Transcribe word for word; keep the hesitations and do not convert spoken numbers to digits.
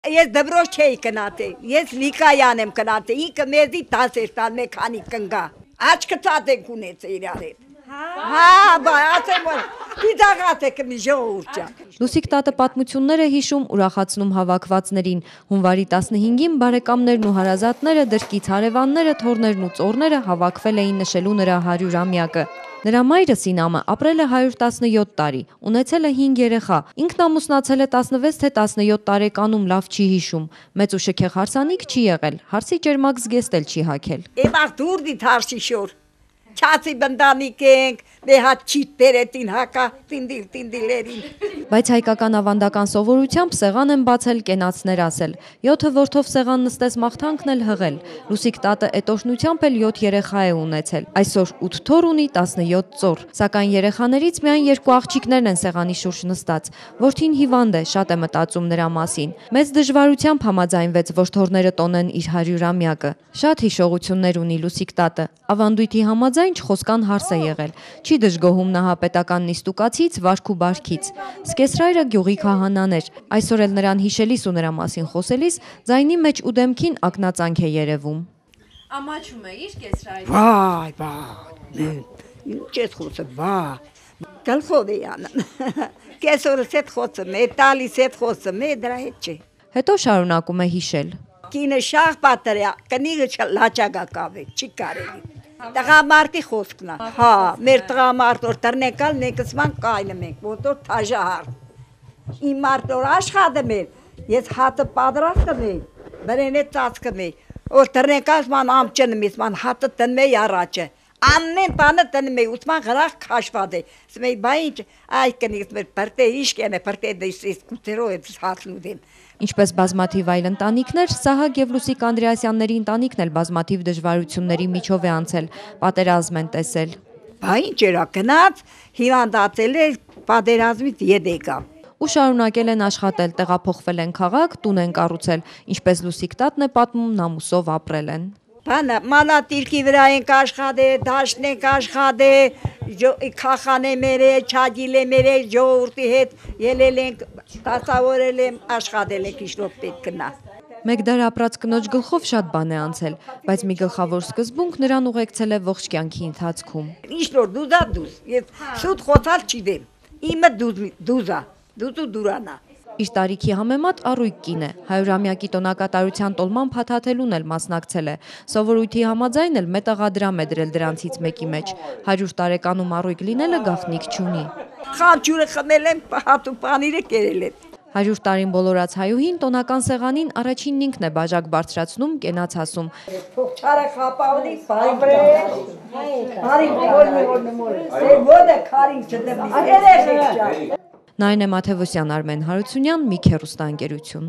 Ես դբրոջ չէի կնատե, ես լիկայան եմ կնատե, ինքը մեզի տաս էր տալ մեքանի կնգա, աչքը ծատենք ունեց է իրար հետ, հա, բա, ասեմ որ, պիդաղատ է կմի ժողուրճա։ Լուսիկ տատը պատմություններ է հիշում, ուրախացնում հավաքվածներին, հունվարի տասնհինգին բարեկամներն ու հարազատները, դրկից հարևանները, թորներն ու ծորները հավաքվել էին նշելու նրա հարյուրամյակը։ Նրա մայրը Սինամը ապրել է հարյուր տասնյոթ տարի, ունեցել է հինգ երեխա, ինքն ամուսնացել է տասնվեց թե տասնյոթ տարեկանում, լավ չի հիշում, մեծ ու շքեղ հարսանիք չի եղել, հարսի ճերմակ զգեստ էլ չի հագել։ Էմաղ դուրդի թարսի շոր, չացի բնդանիք ենք, մեհատ չիտ տերետին հակա, տինդիլ տինդիլերին։ Բայց հայկական ավանդական սովորությամբ սեղան են բացել, կենացներ ասել, յոթը որդով սեղան նստես մաղթանքն էլ հղել, Լուսիկ տատը էտոշնությամբ էլ յոթ երեխա է ունեցել, այսօր ութ թոր ունի տասնյոթ ծոր, սակայն երեխաներից միայն երկու աղջիկներն են սեղանի շուրջ նստած, որդին հիվանդ է, շատ է մտածում նրա մասին, մեծ դժվարությամբ համաձայնվեց, որ թորները տոնեն իր հարյուրամյակը, շատ հիշողություններ ունի Լուսիկ տատը, ավանդույթի համաձայն չխոսկան հարս է եղել, չի դժգոհում նահապետական նիստուկացից, վարք ու բարքից, սկեսրայրը գյուղի քահանան էր, այսօր էլ նրան հիշելիս ու նրա մասին խոսելիս, ձայնի մեջ ու դեմքին ակնածանք է երևում։ Ամաչում է իր կեսրայրը։ Վայ, վայ, ինչ ես խոսը, վայ, գլխով է յանն, կեսորս հետ խոսը մե, տալիս հետ խոսը մե, դրա հետ չէ։ Հետո շարունակում է հիշել։ Կինը շաղ պատրյա, կնիգը լաճագա կավե, չի կարելի։ Տղամարտի խոսքնա, հա, մեր տղամարտ որ տրնեկալ նեկսման կայլը մենք, ոտոր թաժահար։ Իմ մարդ որ աշխադը մեր, ես հատը պատրաստ կմեի, բրեն է ծած կմեի, որ տրնեկալ ման ամճնը միս, ման հատը տնմեի առաջը, ամեն բանը տնմեի, ուսման գրախ կաշվադ է, սմեի բա ինչ, այ կնիգս մեր պրտե իշկեն է, պրտե դիսիս կուտերով է հացնուդին։ Ինչպես բազմաթիվ այլ ընտանիքներ, Սահակ եւ Լուսիկ Անդրեասյանների ընտանիքն էլ բազմաթիվ դժվարությունների միջով է անցել, պատերազմ են տեսել։ Բա ինչ էրա գնաց, հիվանդացել էր, պատերազմից ետ եկավ։ Ու շարունակել են աշխատել, տեղափոխվել են քաղաք, տուն են կառուցել, ինչպես Լուսիկ տատն է պատմում, նամուսով ապրել են։ Բանը մանատիրքի վրա ենք աշխատե, դաշտն ենք աշխատե, քախան է մերը, չագիլ է մերը, ժողովրդի հետ ելել ենք, դասավորել եմ, աշխատել ենք իշլով պետք կնա։ Մեկ դար ապրած կնոջ գլխով շատ բան է անցել, բայց մի գլխավոր սկզբունք նրան ուղեկցել է ողջ կյանքի ընթացքում։ Իշլոր դուզա դուզ, ես շուտ խոսալ չիդեմ, իմը դուզա, դուզու դուրանա։ Իր տարիքի համեմատ առույգ կին է, հարյուրամյակի տոնակատարության տոլման փաթաթելուն էլ մասնակցել է, սովորույթի համաձայն էլ մետաղադրամ է դրել դրանցից մեկի մեջ, հարյուր տարեկանում առույգ լինելը գաղտնիք չունի։ Խանջուրը խմել եմ, հատու պանիրը կերել եմ։ Հարյուր տարին բոլորած հայուհին տոնական սեղանին առաջինն ինքն է բաժակ բարձրացնում, կենաց ասում։ Փոխչարը խապավնի, բայբրե, հարին որնի որնի մորը, ոտը քարին չդեմ, երեխեք ճա։ Նայնե Մաթևոսյան, Արմեն Հարությունյան, Միք հեռուստաընկերություն։